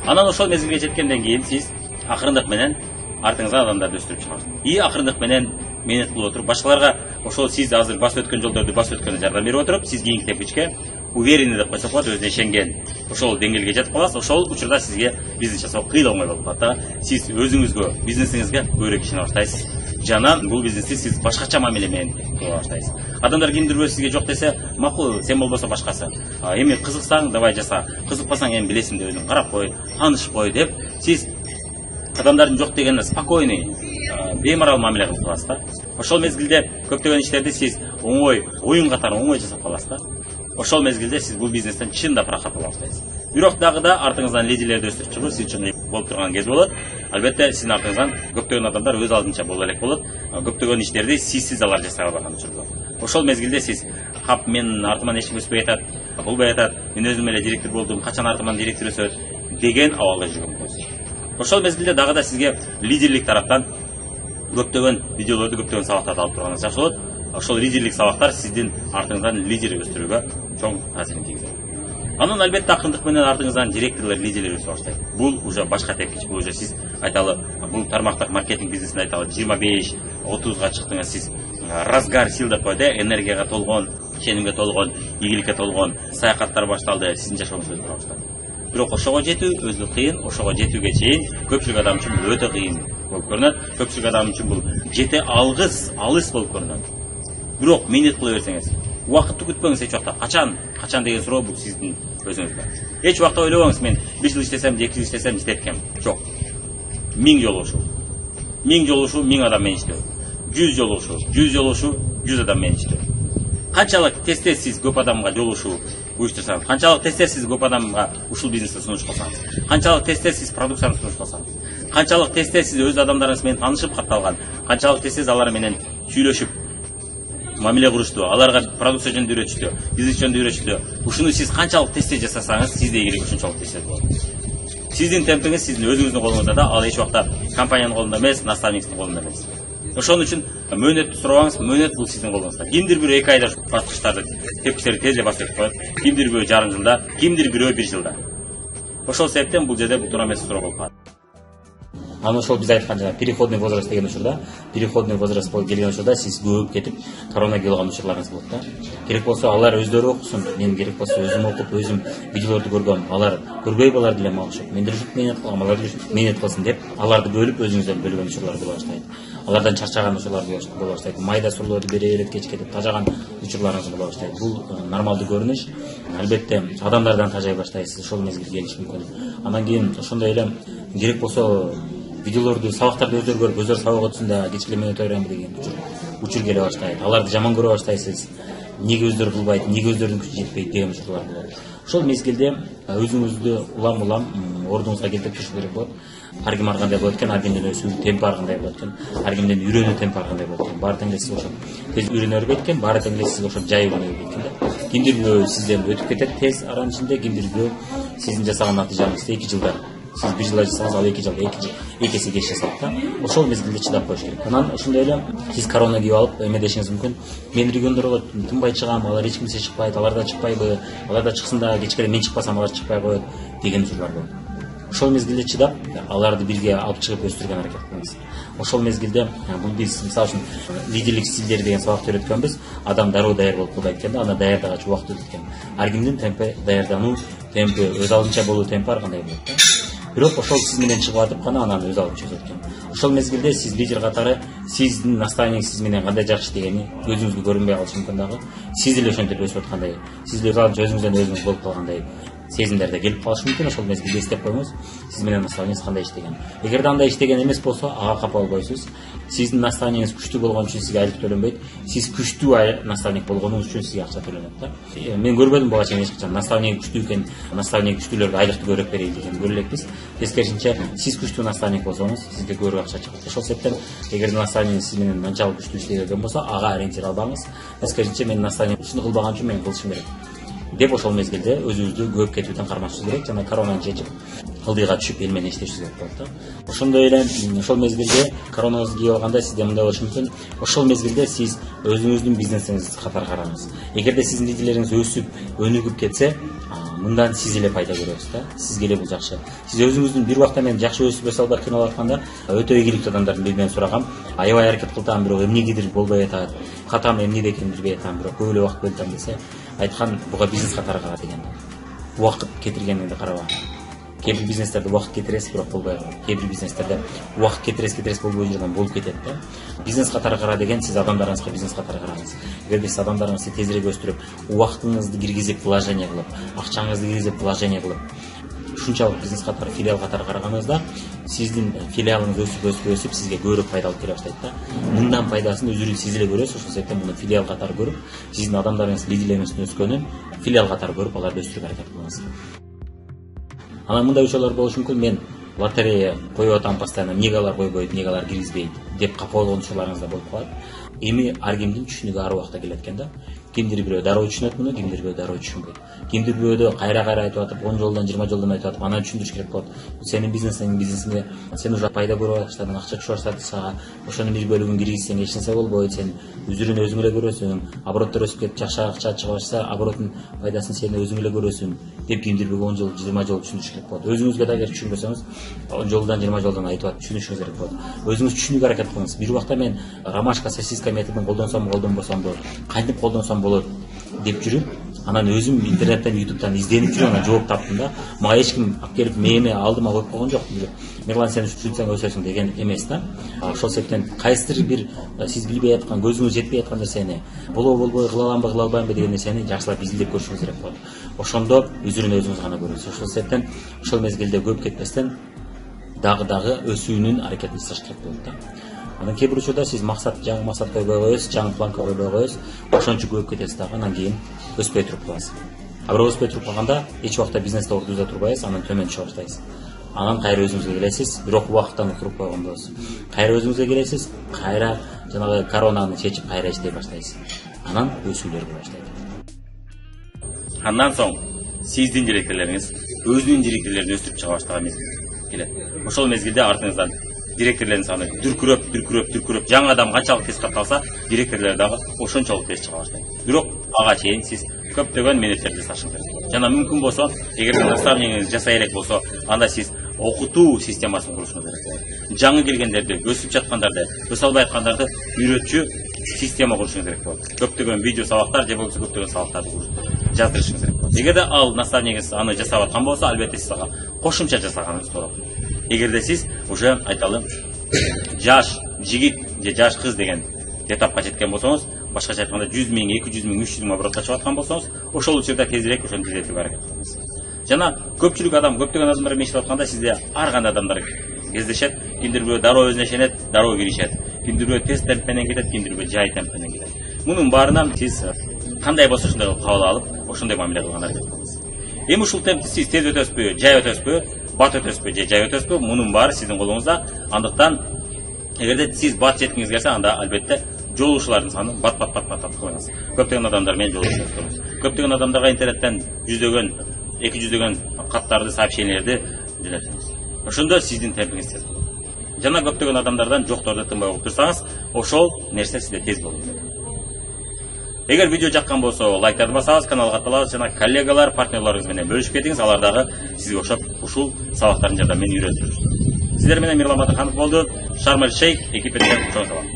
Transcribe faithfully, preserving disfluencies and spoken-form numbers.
Анан ошол мезгилге жеткенден кийин сиз акырындык менен артыңызга адамдарды өстүрүп чыгасыз. И акырындык менен менет кылып отуруп, башкаларга ошол сиз азыр басып өткөн жолдорду басып өткөнгө жардам берип отуруп, сиз кийинки тепкичке уверенный деп койсок болот, өзүнө ишенген ошол деңгээлге жетип каласыз. Ошол учурда сизге бизнес жасоо кыйла оңой болуп калат да. Сиз өзүңүзгө, бизнесиңизге көбүрөөк ишене баштайсыз. Жана бул бизнести сиз башкача мамиле менен кыла баштайсыз. Адамдар кимдир бирөө сизге жок десе, макул, сен болбосо башкасы. Эми кызыксаң, давай жаса. Кызыкпасаң эми билесиң деп өзүң карап кой, танышып кой деп сиз адамдардын жок дегенине спокойный, беймарал мамиле кылып каласыз да. Ошол мезгилде көптөгөн иштерди сиз оңой, оюн катары оңой жасап каласыз да. Ошол мезгилде сиз бул бизнестен чындап рахат ала баштайсыз. Бирок дагы да артыңыздан лидерлерди өстүрүп чыгуу сиз үчүн болуп турган кез болот. Албетте сиздин артыңыздан көптөгөн адамдар өз алдынча боло элек болот. Көптөгөн иштерди сизсиз алар жасай албаган учурда. Ошол мезгилде сиз кап мен артыман эч ким өспөй атат, болбой атат, мен өзүм эле директор болдум, качан артыман директор өсөт деген абалда жүргөн болосуз. Ошол мезгилде дагы да сизге лидерлик тараптан көптөгөн видеолорду, көптөгөн сабактарды алып турганыңыз жакшы болот. Ошол лидерлик сабактар сиздин артыңыздан лидер өстүрүүгө чоң таасирин тийгизет. Анан албетте акырындык менен артыңыздан директорлор, лидерлер өсө баштайт. Бул уже башка тепкич, бул уже сиз айталы, бул тармактык маркетинг бизнесинде айталы жыйырма беш отузга чыктыңыз, сиз разгар сил деп коет, энергияга толгон, ишенимге толгон, ийгиликке толгон саякаттар башталды, сиздин жашооңуз өзгөрө баштады. Бирок ошого жетүү өзү кыйын, ошого жетүүгө чейин көпчүлүк адам үчүн бул өтө кыйын болуп көрүнөт. Көпчүлүк адам үчүн бул жете алгыс, алыс болуп көрүнөт. Бирок менет кыла берсеңиз, убакытты күтпөңүз эч убакта. Качан, качан деген суроо бул сиздин өзүңүзгө. Эч убакта ойлобоңуз, мен бир жыл иштесем, эки жыл иштесем жетет экен. Жок. Миң жолу ушул. Миң жолу ушул, миң адам менен иштөө. жүз жолу ушул, жүз жолу ушул, жүз адам менен иштөө. Канчалык тез-тез сиз көп адамга жолугушуу уюштурсаңыз, канчалык тез-тез сиз көп адамга ушул бизнести сунуш кылсаңыз, канчалык тез-тез сиз продукцияны сунуш кылсаңыз, канчалык тез-тез сиз өз адамдарыңыз менен таанышып катталган, канчалык тез-тез алар менен сүйлөшүп мамиле курушту, аларга продукция жөнүндө үйрөтүштү, бизнес жөнүндө үйрөтүштү. Ушуну сиз канчалык тез-тез жасасаңыз, сизде ийгилик ушунчалык тез болот. Сиздин темпиңиз сиздин өзүңүздүн колуңузда да, ал эч убакта компаниянын колунда эмес, наставниктин колунда эмес. Ошон үчүн мөөнөттү сурабаңыз, мөөнөт бул сиздин колуңузда. Кимдир бирөө эки айда баскычтарды, тепкичтерди тез эле басып коет, кимдир бирөө жарым жылда, кимдир бирөө бир жылда. Ошол себептен бул жерде бул туура эмес суроо болуп калат. Анан ошол биз айткан жана переходный возраст деген учурда, переходный возраст болуп келген учурда сиз көбүп кетип, корона келип алган учурларыңыз болот да. Керек болсо алар өздөрү окусун, мен керек болсо өзүм окуп, өзүм видеолорду көргөм, алар көрбөй балар деле окшоп, мен деле менет кылгам, алар деле менет кылсын деп, аларды бөлүп өзүңүздөн бөлгөн учурлар боло баштайт. Алардан чарчаган учурлар боло баштайт. Майда сурларды бере элек кечке деп тажаган учурларыңыз боло баштайт. Бул нормалдуу көрүнүш. Албетте адамдардан тажай баштайсыз, ошол мезгил келиши мүмкүн. Анан кийин ошондой эле керек болсо видеолорду, сабактарды өздөрү көрүп, өздөрү сабак өтсүн да кечке мен өтө берем деген учур учур келе баштайт. Аларды жаман көрө баштайсыз. Неге өздөрү кылбайт, неге өздөрүнүн күчү жетпейт деген учурлар болот. Ошол мезгилде өзүңүздү улам-улам ордуңузга келтирип туруш керек болот. Ар ким ар кандай болот экен, ар кимдин өсүү темпи ар кандай болот экен, ар кимдин үйрөнүү темпи ар кандай болот экен. Баары тең эле сиз ошо тез үйрөнө бербейт экен, баары тең эле сиз ошо жай үйрөнө бербейт экен да. Кимдир бирөө сизден өтүп кетет тез аранын ичинде, кимдир бирөө сиздин жасаган натыйжаңызды эки жылда, сиз бир жылда жасасаңыз, ал эки жылда эки эки эсе кеч жасайт да. Ошол мезгилде чыдап коюш керек. Анан ошондой эле сиз корона кийип алып эмедешиңиз мүмкүн. Мен региондор болот, тынбай чыгам, алар эч кимсе чыкпайт, алар да чыкпайбы, алар да чыксын да кечке мен чыкпасам алар чыкпай коет деген учурлар болот. Ошол мезгилде чыдап, аларды бирге алып чыгып өстүргөн аракет кылыңыз. Ошол мезгилде бул биз мисалы үчүн лидерлик стилдери деген сабакты өйрөткөнбүз. Адам дароо даяр болуп калбайт экен да, аны даярдаганча убакыт өтөт экен. Ар кимдин темпи, даярдануу темпи, өз алдынча болуу темпи ар кандай болот да. Бирок ошол сиз менен чыгып атып гана анан өз алдынча өтөт экен. Ошол мезгилде сиз лидер катары сиздин наставниңиз сиз менен кандай жакшы дегени көзүңүзгө көрүнбөй калышы мүмкүн дагы. Сиз деле ошентип өсүп аткандай, сиз деле өзүңүздөн өзүңүз болуп калгандай сезимдерде келип калышы мүмкүн. Ошол мезгилде эстеп коюңуз, сиз менен наставниңиз кандай иштеген. Эгерде андай иштеген эмес болсо, ага капа болбойсуз. Сиздин наставниңиз күчтүү болгон үчүн сизге айлык төлөнбөйт. Сиз күчтүү наставник болгонуңуз үчүн сизге акча төлөнөт да. Мен көрбөдүм буга чейин эч качан наставник күчтүү экен, наставник күчтүүлөргө айлыкты көбүрөөк берейин деген көрө элекпиз. Тескерисинче, сиз күчтүү наставник болсоңуз, сизге көбүрөөк акча чыгат. Ошол себептен, эгерде наставниңиз сиз менен анчалык күчтүү иштеген болсо, ага ориентир албаңыз. Тескерисинче, мен наставник ушуну кылбаган үчүн мен кылышым керек деп ошол мезгилде өзүбүздү көп кетүүдөн кармашышыбыз керек жана коронаны чечип ылдыйга түшүп эл менен иштешибиз керек болот да. Ошондой эле ошол мезгилде коронаңыз кийип алганда сизде мындай болушу мүмкүн. Ошол мезгилде сиз өзүңүздүн бизнесиңизди катары караңыз. Эгерде сиздин лидерлериңиз өсүп, өнүгүп кетсе, мындан сиз эле пайда көрөсүз да. Сизге эле бул жакшы. Сиз өзүңүздүн бир убакта мен жакшы өсүп өсө албай кыйналып атканда өтө ийгиликтүү адамдардын биринен сурагам. Аябай аракет кылтам, бирок эмнегедир болбой атат. Катам эмнеде экенин билбей атам, бирок көп эле убакыт бөлүп атам десе, айткан буга бизнес катары кара деген. Убакыт кетиргениңди караба. Кээ бир бизнестерде убакыт кетиресиз, бирок болбой калат. Кээ бир бизнестерде убакыт кетиресиз, кетиресиз болбой жүргөн болуп кетет да. Бизнес катары кара деген сиз адамдарыңызга бизнес катары караңыз. Эгерде сиз адамдарыңызды тезирээк өстүрүп, убактыңызды киргизип, вложение кылып, акчаңызды киргизип, вложение кылып, ушунчалык бизнес катары, филиал катары караганыңызда сиздин филиалыңыз өсүп өсүп өсүп сизге көбүрөөк пайда алып келе баштайт да. Мындан пайдасын өзүңүз сиз эле көрөсүз. Ошол себептен муну филиал катары көрүп, сиздин адамдарыңыз, лидерлериңиздин өскөнүн филиал катары көрүп, аларды өстүрүүгө аракет кылыңыз. Анан мындай учурлар болушу мүмкүн. Мен лотерея коюп атам постоянно, эмнеге алар койбойт, эмнеге алар киргизбейт деп капа болгон учурларыңыз да болуп калат. Эми ар кимдин түшүнүгү ар убакта келет экен да. Кимдир бирөө дароо түшүнөт муну, кимдир бирөө дароо түшүнбөйт. Кимдир бирөөдө кайра-кайра айтып атып, он жолдон жыйырма жолдон айтып атып, анан түшүндүрүш керек болот. Сенин бизнесиң, бизнесиңе сен уже пайда көрүп баштадың, акча түшүп баштады сага. Ошонун бир бөлүгүн киргизсең эч нерсе болбойт. Сен үзүрүн өзүң эле көрөсүң. Обороттор өсүп кетип жакшы акча чыга башса, обороттун пайдасын сен өзүң эле көрөсүң деп кимдир бир он жол, жыйырма жол түшүндүрүш керек болот. Өзүңүзгө да эгер түшүнбөсөңүз, он жолдон жыйырма жолдон айтып атып түшүнүшүңүз керек болот. Өзүңүз түшүнүүгө аракет кылыңыз. Бир убакта мен ромашка сосиска методун колдонсом, колдонбосом болот, кантип колдонсом болот деп жүрүп, анан өзүм интернеттен, ютубтан изденип жүрүп, анан жооп таптым да. Мага эч ким алып келип мээме алдыма коюп койгон жок. Мырлан сен ушинтсең өсөсүң деген эмес да. Ошол себептен кайсыдыр бир сиз билбей аткан, көзүңүз жетпей аткан нерсени, болобу болбой, кыла аламбы, кыла албаймбы деген нерсени жакшылап изилдеп көрүшүңүз керек болот. Ошондо үзүрүн өзүңүз гана көрөсүз. Ошол себептен ошол мезгилде көп кетпестен дагы дагы өсүүнүн аракетин жасаш керек болот да. Анан кээ бир учурда сиз максат, жаңы максат койбой коесуз, жаңы планка койбой коесуз, ошончо көп кетесиз дагы, анан кийин өспөй туруп каласыз. А бирок өспөй туруп калганда эч убакта бизнесте ордузда турбайсыз, анан төмөн түшө баштайсыз. Анан кайра өзүңүзгө келесиз, бирок убакыттан утуруп койгон болосуз. Кайра өзүңүзгө келесиз, кайра жанагы коронаны чечип кайра иштей баштайсыз. Анан өсүүлөр боло баштайт. Андан соң сиздин директорлоруңуз өзүнүн директорлорун өстүрүп чыга баштаган мезгил келет. Ошол мезгилде артыңыздан директорлордун саны дүркүрөп, дүркүрөп, дүркүрөп, жаңы адам канчалык тез катталса, директорлор дагы ошончолук тез чыга баштайт. Бирок ага чейин сиз көптөгөн менеджерди жасашыңыз керек. Жана мүмкүн болсо, эгер наставнигиңиз жасай элек болсо, анда сиз окутуу системасын курушуңуз керек. Жаңы келгендерди, өсүп жаткандарды, өсө албай аткандарды үйрөтчү система курушуңуз керек болот. Көптөгөн видео сабактар же болбосо көптөгөн сабактарды жаздырышыңыз керек болот. Эгерде ал наставнигиңиз аны жасап аткан болсо, албетте сиз ага кошумча жасаганыңыз туура. Эгерде сиз уже айталы жаш жигит же жаш кыз деген этапка жеткен болсоңуз, башкача айтканда жүз миң, эки жүз миң, үч жүз миң оборотко чыгып аткан болсоңуз, ошол учурда тезирээк ошону тездетүүгө аракет кылыңыз. Жана көпчүлүк адам, көптөгөн адамдар менен иштеп атканда сизде ар кандай адамдар кездешет. Кимдир бирөө дароо өзүнө ишенет, дароо киришет. Кимдир бирөө тез темп менен кетет, кимдир бирөө жай темп менен кетет. Мунун баарынан сиз кандай болсо ошондой кабыл алып, ошондой мамиле кылганга аракет кылыңыз. Эми ушул темпти сиз тез өтөсүзбү, жай өтөсүзбү, бат өтөсүзбү же жай өтөсүзбү, мунун баары сиздин колуңузда. Андыктан эгерде сиз бат жеткиңиз келсе, анда албетте жолугушуулардын санын бат бат бат бат кылыңыз. Көптөгөн адамдар менен жолугушуп көрүңүз. Көптөгөн адамдарга интернеттен жүздөгөн, эки жүздөгөн каттарды, сообщениялерди жөнөтүңүз. Ошондо сиздин темпиңиз тез болот. Жана көптөгөн адамдардан жокторду тынбай угуп турсаңыз, ошол нерсе сизде тез болот. Эгер видео жаккан болсо, лайктарды басабыз, каналга катталабыз жана коллегалар, партнерлорубуз менен бөлүшүп кетиңиз. Алар дагы сизге окшоп ушул сабактардын жардамы менен үйрөнүп жүрүшсүн. Сиздер менен Мирлан Батырханов болду. Шарм эль Шейх экипине чоң салам.